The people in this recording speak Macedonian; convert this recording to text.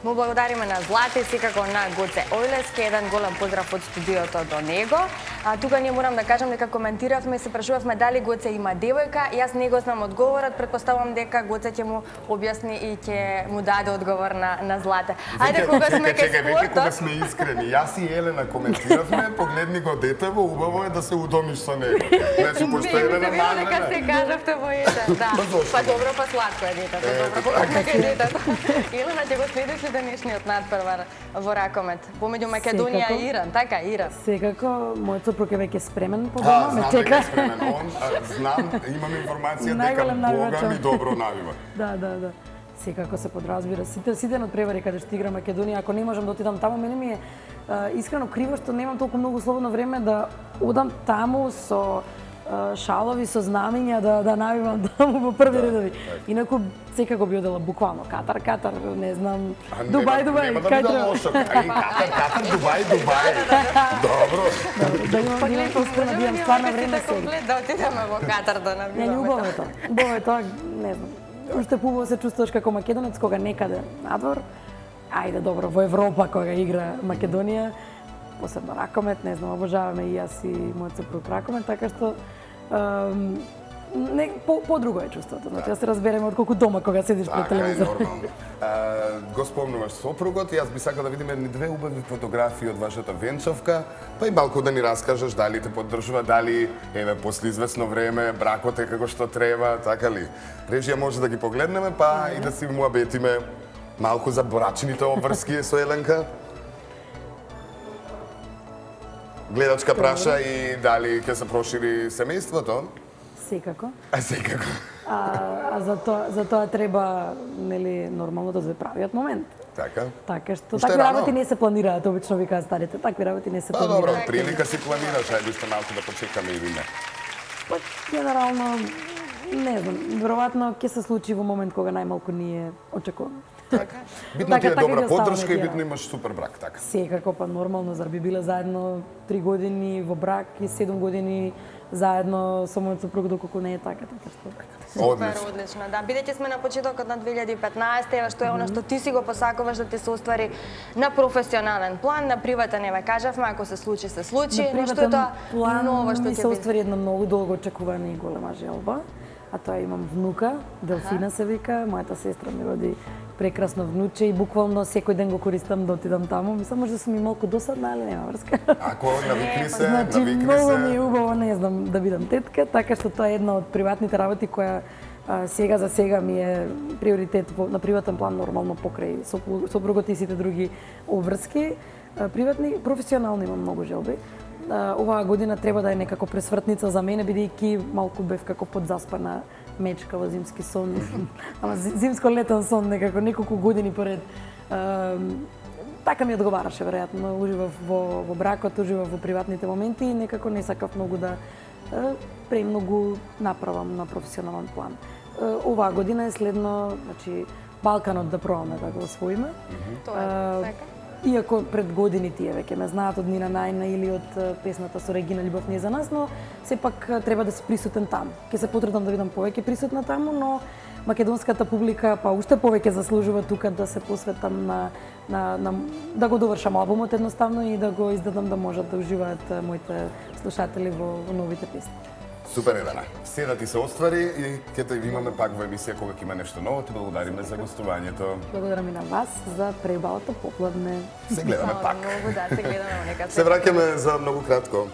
Му благодариме на Злате, секако на Гоце Ојлески, еден голем поздрав од студиото до него. Тука ние морам да кажам дека коментиравме и се прашувавме дали Гоце има девојка. Јас не го знам одговорот, претпоставувам дека Гоце ќе му објасни и ќе му даде одговор на Злате. Ајде кога сме кај спортот. Кога сме искрени, јас и Елена коментиравме, погледни го детево, убаво е да се удомиш со него. Значи пошто Елена мажна. Нека се кажавте во еден, да. Па добро, па сладко е детето, добро, па е детето. Елена ќе го следиш ли денешниот надпревар во ракомет помеѓу Македонија и Иран, така Иран? Секако, мојот сопруг е веќе спремен по дома, ме чека. Знам, имам информација дека Бога ми добро навива. Да. Секако се подразбира. Сите надпревари каде што игра Македонија, ако не можам да отидам таму, мене ми е искрено криво што немам толку многу слободно време да одам таму со шалови, со знамиња да навивам таму во први редови. Инаку секако би одела буквално Катар, не знам, Дубај, кај треба. Катар, Дубај. Добро. Да имам искрено да имам стварно време сега. Да отидеме во Катар да навиваме. Не, убаво е тоа, не знам. Уште побаво се чувствуваш како македонец кога некаде надвор. Ајде, добро, во Европа кога игра Македонија, посебно ракомет, не знам, обожаваме и јас и мојот сопруг ракомет, така што по-друго е чувството. Значи, да се разбереме отколку дома кога седиш пред телевизор. Така е, нормално. Го спомнуваш сопругот, јас би сакал да видиме две убави фотографии од вашата венчавка, па и малку да ни раскажеш дали те поддржува, дали после известно време бракот е како што треба, така ли? Режија може да ги погледнеме, па и да си му абетиме малку за брачните обврски со Еленка. Гледачка праша и дали ќе се прошири семејството? Секако. Секако. За тоа треба, нели, нормално да се правиот момент. Така. Така што такви работи не се планираат, обично викаат старите, такви работи не се планираат. Па добро, прилика си планираш, ајде уште малку да почекаме или не. Па генерално не знам, веројатно ќе се случи во момент кога најмалку ние очекуваме. Така. Битно ти е добра поддршка и битно имаш супер брак, така. Секако, па нормално, зар би биле заедно 3 години во брак и 7 години заедно со мојот сопруг доколку не е така што. Супер, одлично, да. Бидејќи сме на почетокот на 2015, ева што е она што ти си го посакуваш да ти се оствари на професионален план, на приватен, еве кажавме, ако се случи, се случи, но што е тоа ново што ќе се оствари една многу долго очекувана и голема желба, а тоа имам внука, Делфина се вика, мојата сестра ми роди прекрасно внуче и буквално секој ден го користам да отидам таму. Мислам, може да сум и малку досадна, али нема врска. Ако навикни се, значи, многу ми е убаво, не знам, да бидам тетка, така што тоа е една од приватните работи која сега за сега ми е приоритет на приватен план, нормално покрај сопругот и сите други обврски. Приватни, професионално имам многу желби. Оваа година треба да е некако пресвртница за мене, бидејќи малку бев како подзаспана мечка во зимски сон, ама зимско-летен сон некако неколку години поред. Така ми одговараше, веројатно, уживав во бракот, уживав во приватните моменти и некако не сакав многу да премногу направам на професионален план. Оваа година е следно, значи, Балканот да пробаме да го освоиме. Тоа е така. Иако пред години тие веќе ме знаат од Нина Најна или од песната со Регина Љубов не за нас, но сепак треба да си присутен таму. Ќе се потрудам да бидам повеќе присутна таму, но македонската публика па уште повеќе заслужува тука да се посветам да го довршам албумот едноставно и да го издадам да можат да уживаат моите слушатели во новите песни. Супер, Елена. Се да ти се оствари и ќе те имаме пак во емисија кога ќе има нешто ново. Ти благодариме за гостувањето. Благодарам и на вас за преубавото попладне. Се гледаме пак. Многу да, се гледаме некад. Се враќаме за многу кратко.